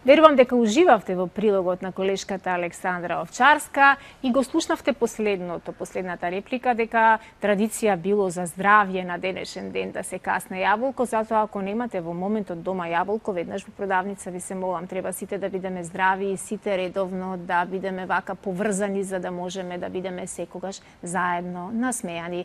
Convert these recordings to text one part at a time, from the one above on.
Верувам дека уживавте во прилогот на колешката Александра Овчарска и го слушнавте последната реплика дека традиција било за здравје на денешен ден да се касне јаболко, затоа ако немате во моментот дома јаболко, веднаш во продавница ви се молам, треба сите да бидеме здрави и сите редовно да бидеме вака поврзани за да можеме да бидеме секогаш заедно насмејани.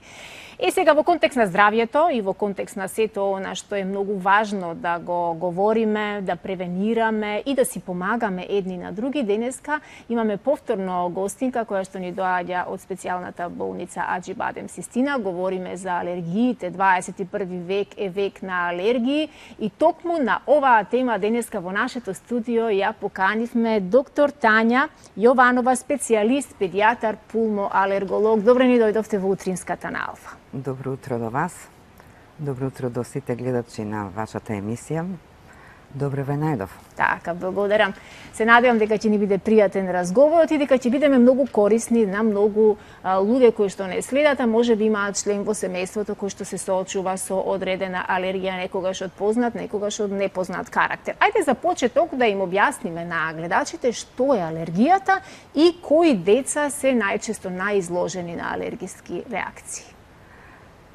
И сега во контекст на здравјето и во контекст на сето она што е многу важно да го говориме, да превенираме и да си помагаме едни на други. Денеска имаме повторно гостинка која што ни доаѓа од специјалната болница Аџи Бадем Систина. Говориме за алергиите. 21 век е век на алергии и токму на оваа тема денеска во нашето студио ја поканивме доктор Тања Јованова, специјалист, педијатар, пулмоалерголог. Добре ни дојдовте во утринската на Алфа. Добро утро до вас. Добро утро до сите гледачи на вашата емисија. Добре ве најдов. Така, благодарам. Се надевам дека ќе ни биде пријатен разговорот и дека ќе бидеме многу корисни на многу луѓе кои што не следат, а може би имаат член во семејството кој што се соочува со одредена алергија, некогаш од познат, некогаш од непознат карактер. Ајде за почеток да им објасниме на гледачите што е алергијата и кои деца се најчесто најизложени на алергиски реакции.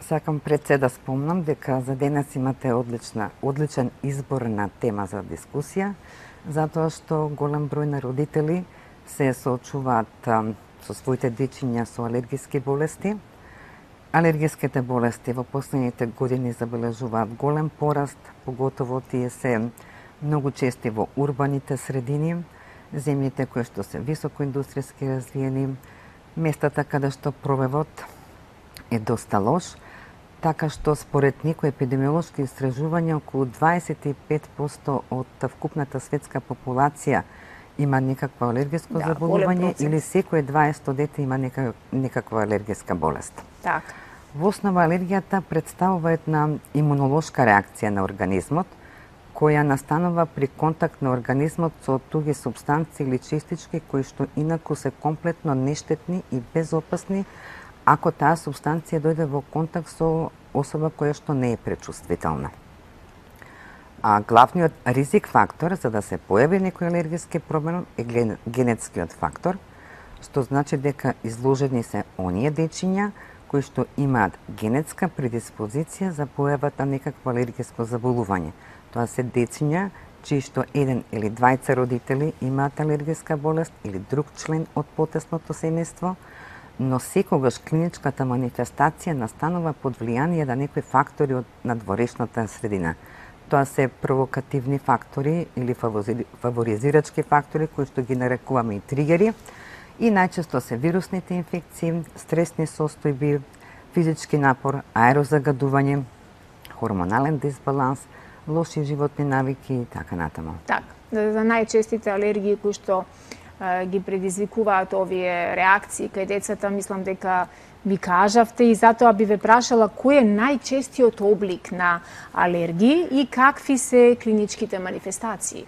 Сакам пред се да спомнам дека за денес имате одличен избор на тема за дискусија, затоа што голем број на родители се соочуваат со своите дечиња со алергиски болести. Алергиските болести во последните години забележуваат голем пораст, поготово тие се многу чести во урбаните средини, земјите кои што се високоиндустријски развиени, местата каде што пробивот е доста лош, така што според некои епидемиолошки истражувања околу 25% од вкупната светска популација има некакво алергиско заболување или секое 20 дете има некаква алергиска болест. Така. Во основа алергијата представува една имунолошка реакција на организмот која настанува при контакт на организмот со туги супстанции или честички кои што инаку се комплетно нештетни и безопасни ако таа субстанција дојде во контакт со особа која што не е пречувствителна. А главниот ризик фактор за да се појави некој алергиски проблем е генетскиот фактор, што значи дека изложени се оние дечиња кои што имаат генетска предиспозиција за појавата на некакво алергиско заболување. Тоа се дечиња чии што еден или двајца родители имаат алергиска болест или друг член од потесното семејство, но секогаш клиничката манифестација настанува под влијание на некои фактори од надворешната средина. Тоа се провокативни фактори или фаворизирачки фактори кои што ги нарекуваме и тригери и најчесто се вирусните инфекции, стресни состојби, физички напор, аерозагадување, хормонален дисбаланс, лоши животни навики и така натаму. Така, за најчестите алергии кои што ги предизвикуваат овие реакции кај децата, мислам дека ви кажавте и затоа би ве прашала кој е најчестиот облик на алергии и какви се клиничките манифестации?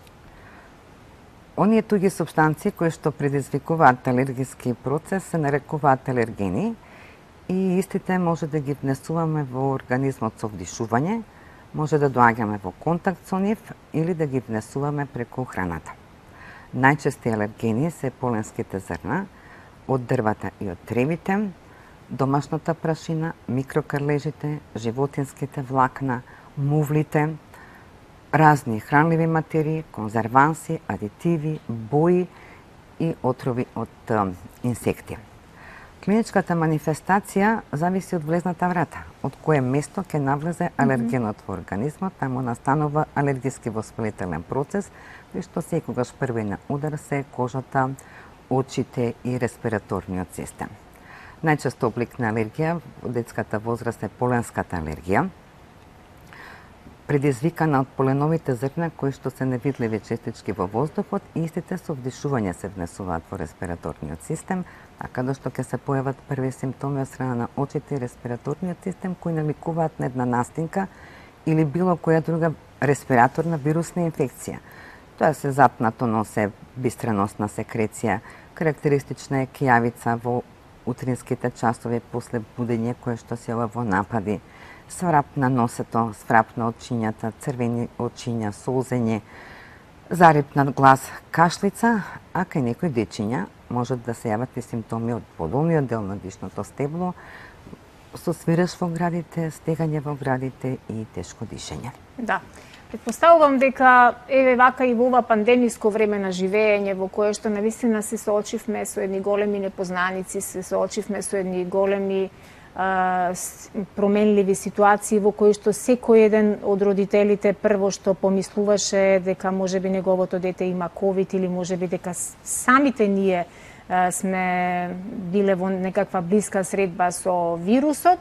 Оние туги супстанции кои што предизвикуваат алергиски процес се нарекуваат алергени и истите може да ги внесуваме во организмот со вдишување, може да доаѓаме во контакт со нив или да ги внесуваме преку храната. Најчести алергени се поленските зрна, од дрвата и од тревите, домашната прашина, микрокрлежите, животинските влакна, мувлите, разни хранливи материи, конзерванси, адитиви, бои и отрови од инсекти. Клиничката манифестација зависи од влезната врата, од кое место ќе навлезе алергенот во организмот, таму настанува алергиски воспалителен процес, кој што секогаш први на удар се кожата, очите и респираторниот систем. Најчесто облик на алергија во детската возраст е поленската алергија, предизвикана од поленовите зрна кои што се невидливи честички во воздухот и истите со вдишување се внесуваат во респираторниот систем, така да што ќе се појават први симптоми од страна на очите и респираторниот систем кои наликуваат на една настинка или било која друга респираторна вирусна инфекција. Тоа се запнато носе бистраносна секреција, карактеристична е кијавица во утринските часови после будење кое што се јава во напади, сврап на носето, сврап на очињата, црвени очиња, солзење, Зарипнат глас, кашлица, а кај некои дечиња можат да се јават и симптоми од подолниот дел на дишното стебло, со свиреж во градите, стегање во градите и тешко дишење. Да. Предпоставувам дека еве вака и во ова пандемиско време на живење во кое што навистина се соочивме со едни големи непознаници, се соочивме со едни големи променливи ситуации во кои што секој еден од родителите прво што помислуваше дека можеби неговото дете има ковид или можеби дека самите ние сме биле во некаква блиска средба со вирусот,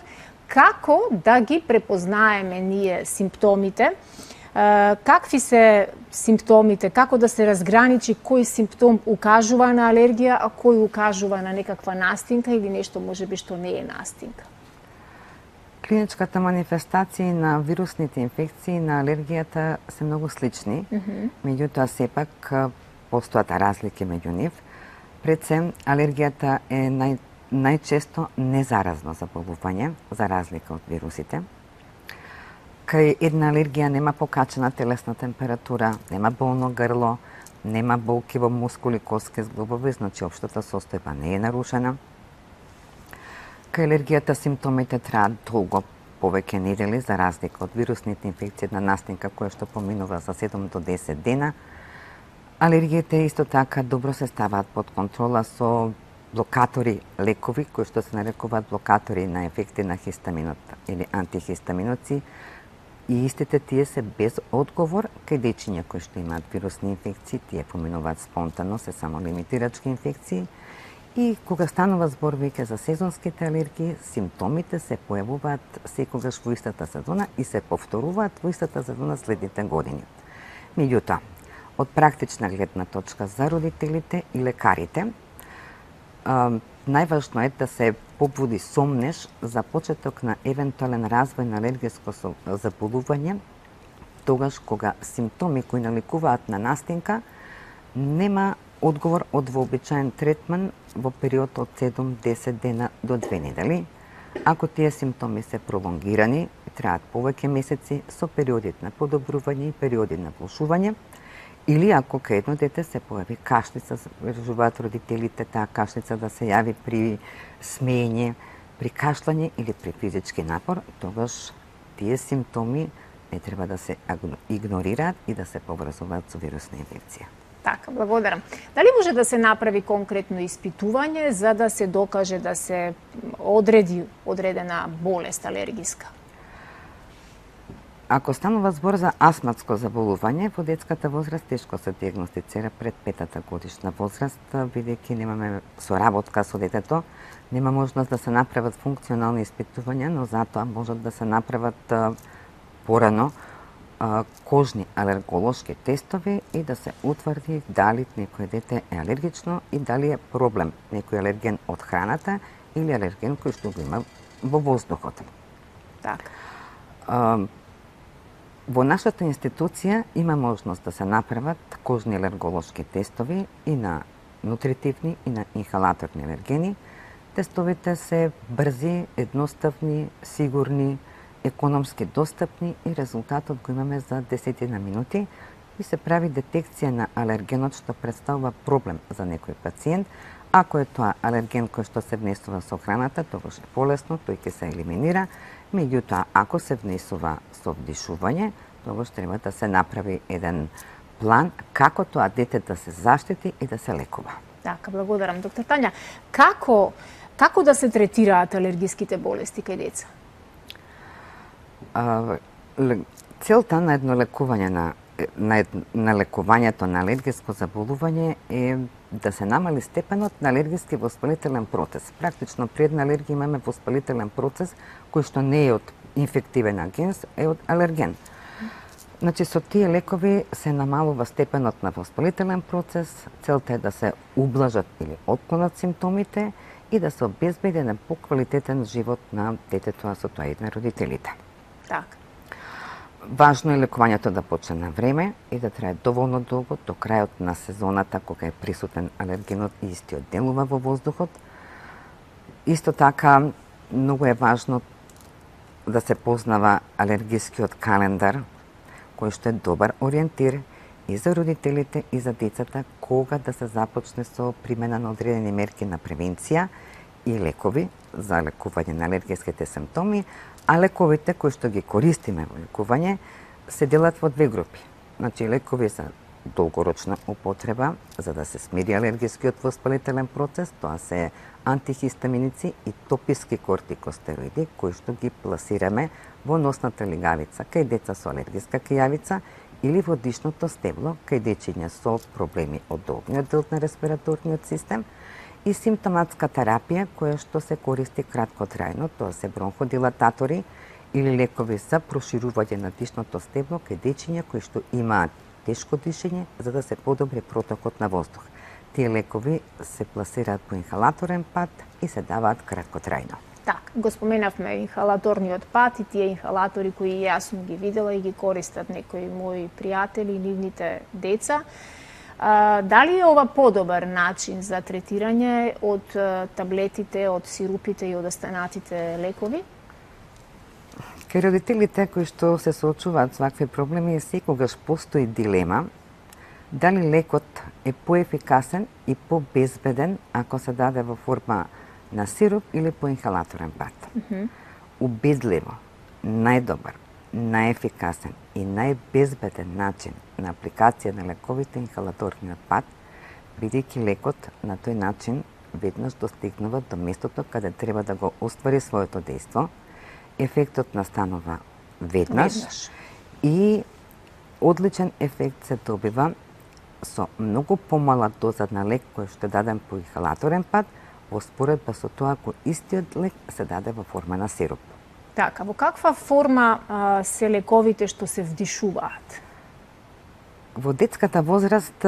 како да ги препознаеме ние симптомите, какви се симптомите, како да се разграничи кој симптом укажува на алергија, а кој укажува на некаква настинка или нешто можеби што не е настинка? Клиничката манифестација на вирусните инфекции на алергијата се многу слични, меѓутоа сепак постојат разлики меѓу нив. Пред се, алергијата е најчесто незаразно заболување, за разлика од вирусите. Кај една алергија нема покачена телесна температура, нема болно грло, нема болки во мускули, костки, зглобови, значи општата состојба не е нарушена. Кај алергијата симптомите траат долго, повеќе недели, за разлика од вирусните инфекции, една настинка која што поминува за 7 до 10 дена. Алергиите исто така добро се ставаат под контрола со блокатори лекови, кои што се нарекуваат блокатори на ефекти на хистаминот или антихистаминоци, и истите тие се без одговор кај дечиња кои што имаат вирусни инфекции, тие поминуваат спонтано, се само лимитирачки инфекции. И кога станува збор веќе за сезонските алергии, симптомите се појавуваат секогаш во истата сезона и се повторуваат во истата сезона следните години. Меѓутоа, од практична гледна точка за родителите и лекарите, најважно е да се побуди сомнеш за почеток на евентуален развој на алергиско заболување, тогаш кога симптоми кои наликуваат на настинка нема одговор од вообичаен третман во период од 7-10 дена до 2 недели. Ако тие симптоми се пролонгирани, траат повеќе месеци со периоди на подобрување и периоди на влошување, или ако кај едно дете се појави кашлица, кажуваат родителите таа кашлица да се јави при смеење, при кашлање или при физички напор, тогаш тие симптоми не треба да се игнорираат и да се поврзуваат со вирусна инфекција. Така, благодарам. Дали може да се направи конкретно испитување за да се докаже да се одреди одредена болест алергиска? Ако станува збор за астматско заболување, во детската возраст тешко се диагностицира пред 5-та годишна возраст, бидејќи немаме соработка со детето, нема можност да се направат функционални испитувања, но затоа можат да се направат порано кожни алерголошки тестови и да се утврди дали некој дете е алергично и дали е проблем некој алерген од храната или алерген кој што го има во воздухот. Така. Во нашата институција има можност да се направат кожни алерголошки тестови и на нутритивни и на инхалаторни алергени. Тестовите се брзи, едноставни, сигурни, економски достапни и резултатот го имаме за 10 минути и се прави детекција на алергенот што представува проблем за некој пациент. Ако е тоа алерген кој што се внесува со храната, тогаш е полесно, тој ќе се елиминира. Меѓутоа, ако се внесува со вдишување, тогаш треба да се направи еден план како тоа дете да се заштити и да се лекува. Така, благодарам. Доктор Тања, како да се третираат алергиските болести кај деца? Целта на едно лекување на лекувањето на алергиско заболување е да се намали степенот на алергиски воспалителен процес. Практично при една алергија имаме воспалителен процес кој што не е од инфективен агенс, е од алерген. Значи, со тие лекови се намалува степенот на воспалителен процес, целта е да се ублажат или отклонат симптомите и да се обезбеди еден поквалитетен живот на детето, а со тоа и на родителите. Така. Важно е лекувањето да почне на време и да трае доволно долго, до крајот на сезоната, кога е присутен алергенот и истиот делува во воздухот. Исто така, многу е важно да се познава алергискиот календар, кој што е добар ориентир и за родителите и за децата кога да се започне со примена на одредени мерки на превенција и лекови за лекување на алергиските симптоми, а лековите кои што ги користиме во лекување се делат во две групи. Значи лекови за долгорочна употреба за да се смири алергискиот воспалителен процес, тоа се антихистаминици и тописки кортикостероиди кои што ги пласираме во носната лигавица кај деца со алергиска кијавица или во дишното стебло кај дечиња со проблеми од долгиот дел на респираторниот систем, и симптоматска терапија која што се користи краткотрајно, тоа се бронходилататори или лекови за проширување на дишното стебло кај дечиња кои што имаат тешко дишење за да се подобри протокот на воздух. Тие лекови се пласираат по инхалаторен пат и се даваат краткотрајно. Так, го споменавме инхалаторниот пат и тие инхалатори кои јас сум ги видела и ги користат некои мои пријатели и нивните деца. Дали е ова подобар начин за третирање од таблетите, од сирупите и од останатите лекови? Кај родителите кои што се соочуваат со вакви проблеми, секогаш постои дилема дали лекот е поефикасен и побезбеден ако се даде во форма на сируп или по инхалаторен пат. Убедливо, најдобар, најефикасен и најбезбеден начин на апликација на лековите инхалаторниот пат, бидејќи лекот на тој начин веднаш достигнува до местото каде треба да го оствари своето дејство, ефектот настанува веднаш и одличен ефект се добива со многу помала доза на лек кој што е даден по инхалаторен пат, во споредба со тоа ако истиот лек се даде во форма на сируп. Така, во каква форма се лековите што се вдишуваат? Во детската возраст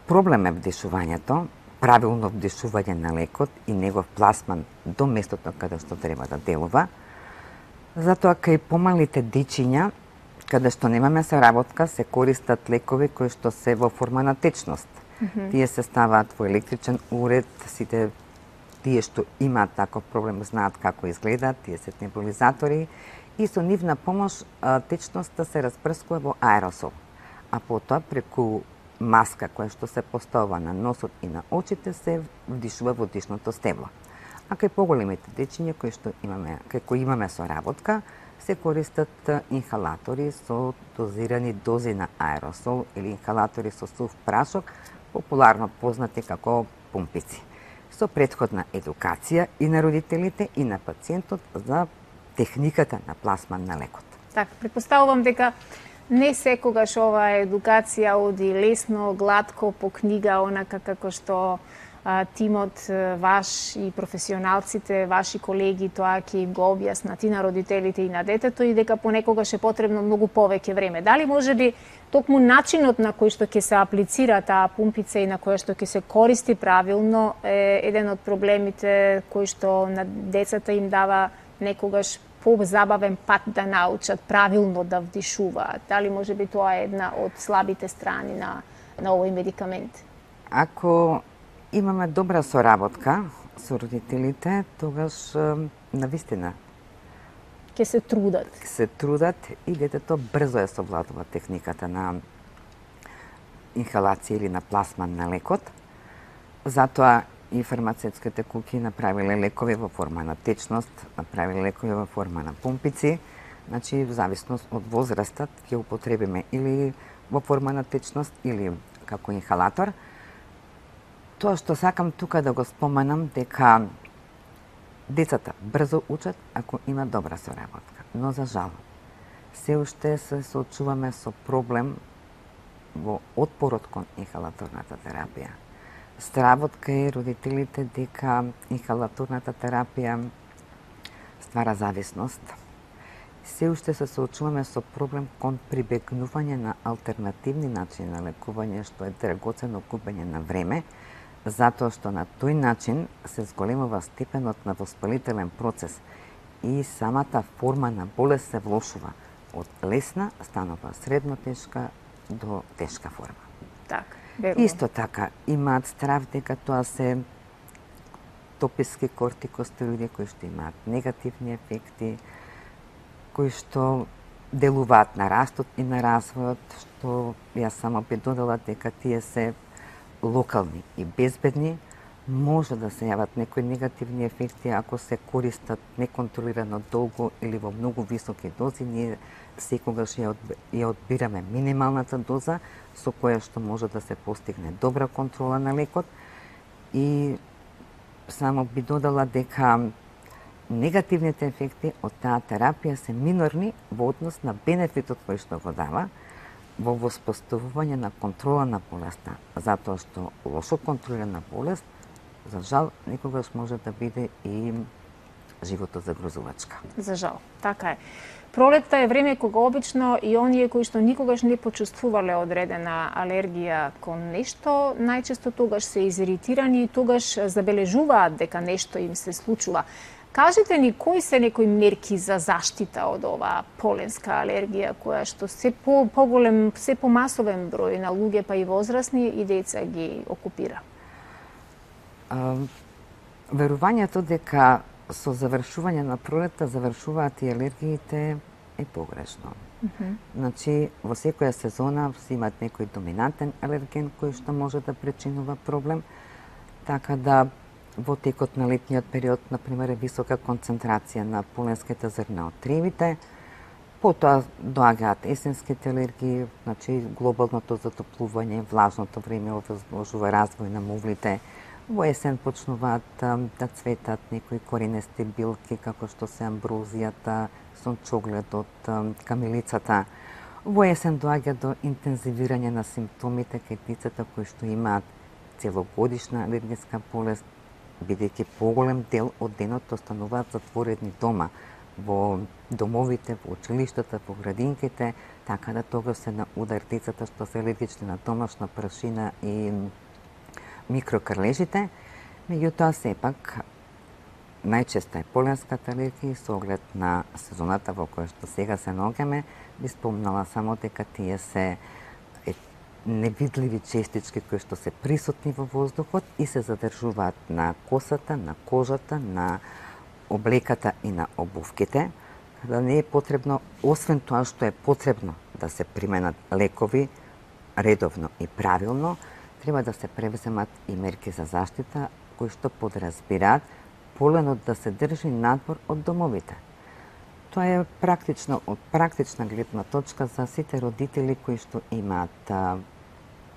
проблем е вдишувањето, правилно вдишување на лекот и негов пласман до местото каде што треба да делува. Затоа кај помалите дечиња, каде што немаме соработка, се користат лекови кои што се во форма на течност. Тие се ставаат во електричен уред, сите тие што имаат таков проблем знаат како изгледаат, тие се небулизатори и со нивна помош течноста се распрскува во аеросол, а потоа преку маска која што се поставува на носот и на очите се вдишува во дишното стебло. А кај поголемите дечиња кај кои имаме соработка, се користат инхалатори со дозирани дози на аеросол или инхалатори со сув прашок, популарно познати како пумпици, со претходна едукација и на родителите и на пациентот за техниката на пласман на лекот. Така, претпоставувам дека не секогаш оваа едукација оди лесно, гладко по книга, онака како што тимот ваш и професионалците, ваши колеги тоа ќе им го објаснат и на родителите и на детето и дека понекогаш е потребно многу повеќе време. Дали можеби токму начинот на кој што ќе се аплицира таа пумпица и на која што ќе се користи правилно е еден од проблемите кој што на децата им дава некогаш по-забавен пат да научат правилно да вдишуваат. Дали можеби тоа е една од слабите страни на овој медикамент? Ако имаме добра соработка со родителите, тогаш навистина ќе се трудат. Се трудат и детето брзо ја совладува техниката на инхалација или на пласман на лекот. Затоа и фармацевтските куќи направиле лекови во форма на течност, направиле лекови во форма на пумпици, значи в зависност од возрастот ќе употребиме или во форма на течност или како инхалатор. Тоа што сакам тука да го споменам дека децата брзо учат ако има добра соработка, но за жал се уште се соочуваме со проблем во отпорот кон инхалаторната терапија. Стравот кај родителите дека инхалаторната терапија ствара зависност. Се уште се соочуваме со проблем кон прибегнување на алтернативни начини на лекување, што е драгоцено губење на време, затоа што на тој начин се зголемува степенот на воспалителен процес и самата форма на болест се влошува. Од лесна станува средно тешка до тешка форма. Така, верувам. Исто така, имаат страв дека тоа се тописки кортикостероиди кои што имаат негативни ефекти, кои што делуваат на растот и на развојот, што јас само би додала дека тие се локални и безбедни. Може да се јават некои негативни ефекти ако се користат неконтролирано долго или во многу високи дози. Ние секогаш ја одбираме минималната доза со која што може да се постигне добра контрола на лекот. И само би додала дека негативните ефекти од таа терапија се минорни во однос на бенефитот кој што го дава во воспоставување на контрола на болеста, затоа што лошо контролирана болест за жал некогаш може да биде и живото загрозувачка. За жал, така е. Пролетта е време кога обично и оние кои што никогаш не почувствувале одредена алергија кон нешто, најчесто тогаш се изиритирани и тогаш забележуваат дека нешто им се случува. Кажете ни кои се некои мерки за заштита од оваа поленска алергија која што се поголем, се помасовен број на луѓе па и возрасни и деца ги окупира? Верувањето дека со завршување на пролетта завршуваат и алергиите е погрешно. Значи, во секоја сезона се имат некој доминантен алерген кој што може да причинува проблем, така да во текот на летниот период, например, е висока концентрација на поленските зрна од тревите, потоа доаѓаат есенските алергии, значи глобалното затоплување, влажното време овозможува развој на мувлите. Во есен почнуваат да цветат некои коренести билки, како што се амброзијата, сончогледот, камилицата. Во есен доаѓа до интензивирање на симптомите кај децата кои што имаат целогодишна алергиска болест, бидејќи поголем дел од денот остануваат затворени дома, во домовите, во училиштата, во градинките, така да тогаш се на удар децата што се алергични на домашна прашина и микрокрлежите. Меѓутоа, сепак, најчеста е поленската алергија со оглед на сезоната во која што сега се наоѓаме, би спомнала само дека тие се невидливи честички кои што се присутни во воздухот и се задржуваат на косата, на кожата, на облеката и на обувките. Да не е потребно, освен тоа што е потребно да се применат лекови редовно и правилно, треба да се превземат и мерки за заштита кои што подразбираат поленот да се држи надвор од домовите. Тоа е практично, од практична гледна точка за сите родители кои што имаат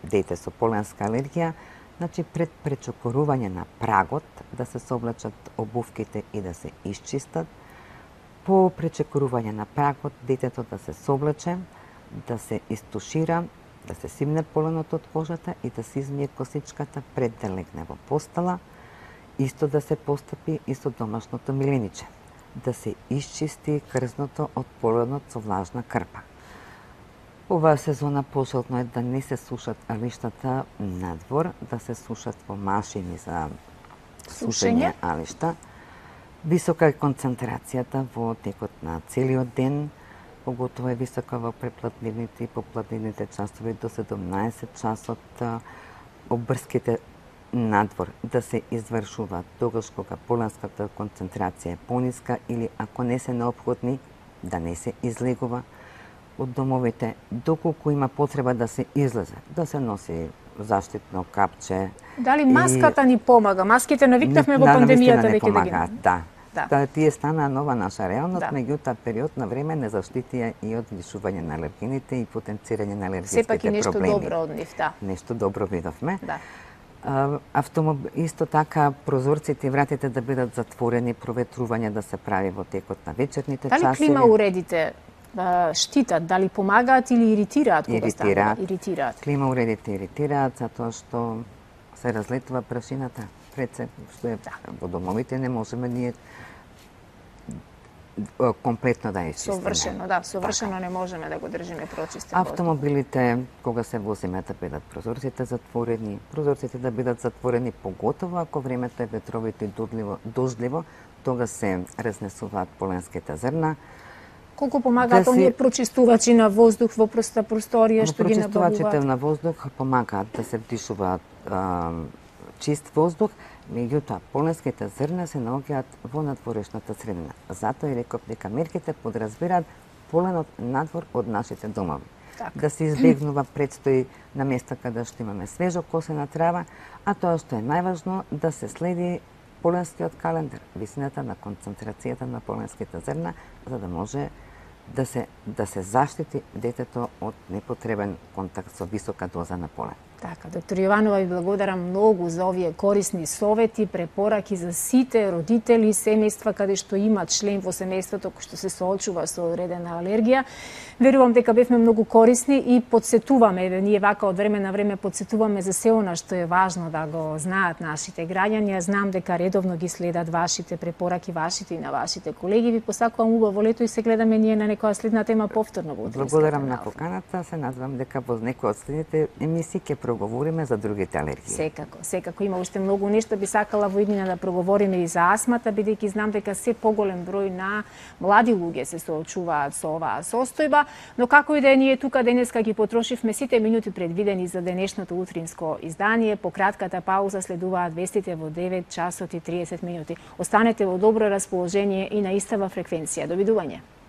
дете со поленска алергија, значи пред пречекорување на прагот да се соблачат обувките и да се исчистат. По пречекорување на прагот детето да се соблаче, да се истушира, да се симне поленот од кожата и да се измие косичката пред да легне во постела. Исто да се постапи и со домашното милениче. Да се исчисти крзното од поленот со влажна крпа. Оваа сезона пожелно е да не се сушат алиштата надвор, да се сушат во машини за сушење алишта. Висока е концентрацијата во текот на целиот ден, поготово е висока во препладнивните и попладнивните часови до 17 часот. Обрските надвор да се извршуваат тогаш кога поленската концентрација е пониска или ако не се неопходни, да не се излегува од домовите, доколку има потреба да се излезе, да се носи заштитно капче. Дали маската ни помага? Маските навикнавме во пандемијата веќе да ги... Да. Тие станаа нова наша реалност, меѓутоа период на време не заштитија и од лишување на алергените и потенцирање на алергиските проблеми. Сепак и нешто добро од нив, да. Нешто добро видовме. Да. Исто така прозорците и вратите да бидат затворени, проветрување да се прави во текот на вечерните часови. Дали клима уредите штитат, дали помагаат или иритираат кога станува? Иритираат. Клима уредите иритираат затоа што се разлетува прашината пред се, што е во домовите не можеме ние комплетно да изчистиме. Совршено не можеме да го држиме прочистен. Автомобилите, кога се возиме, да бидат прозорците затворени, прозорците да бидат затворени, поготово ако времето е ветровито и дождливо, тога се разнесуваат поленските зрна. Колку помагаат оние прочистувачи на воздух во просторија што ги набавуваат? Прочистувачите на воздух помагаат да се вдишуваат чист воздух, меѓутоа поленските зрна се наоѓаат во надворешната средина. Затоа и реков дека мерките подразбираат поленот надвор од нашите домови. Така. Да се избегнува предстои на места каде што имаме свежо косена трава, а тоа што е најважно да се следи поленскиот календар, висината на концентрацијата на поленските зрна, за да може да се заштити детето од непотребен контакт со висока доза на полен. Така, доктор Јованова, ви благодарам многу за овие корисни совети, препораки за сите родители и семејства каде што имат член во семејството кој што се соочува со одредена алергија. Верувам дека бевме многу корисни и подсетуваме, ние вака од време на време подсетуваме за се она што е важно да го знаат нашите граѓани. Знам дека редовно ги следат вашите препораки, вашите и на вашите колеги. Ви посакувам убаво лето и се гледаме ние на некоја следна тема повторно во Утринската Благодарам на наука. поканата, се надевам дека во некој од следните емисии ќе проговориме за другите алергии. Секако има уште многу нешто би сакала во иднина да проговориме и за астмата, бидејќи знам дека се поголем број на млади луѓе се соочуваат со оваа состојба, но како и да е, ние тука денеска ги потрошивме сите минути предвидени за денешното утринско издание. По кратката пауза следуваат вестите во 9 часот и 30 минути. Останете во добро расположение и на истава фреквенција. Довидување.